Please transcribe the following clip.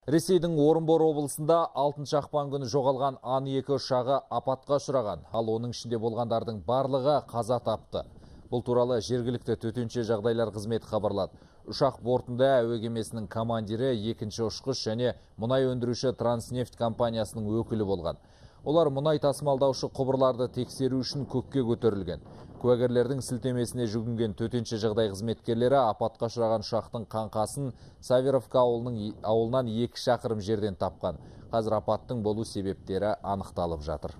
Ресейдің Орынбор облысында 6 ақпан күні жоғалған Ан-2 ұшағы апатқа ұшыраған, ал оның ішінде болғандардың барлығы қаза тапты. Бұл туралы жергілікті төтенше жағдайлар қызметі хабарлады. Ұшақ бортында әуе кемесінің командирі, екінші ұшқыш және мұнай өндіруші Транснефть компаниясының өкілі болған. Олар мұнай тасымалдаушы құбырларды тексеру үшін көкке көтерілген. Куәгерлердің сілтемесіне жүгінген төтенше жағдай қызметкерлері апатқа ұшыраған ұшақтың қаңқасын Саверовка ауылынан 2 шақырым жерден тапқан. Қазір апаттың болу себептері анықталып жатыр.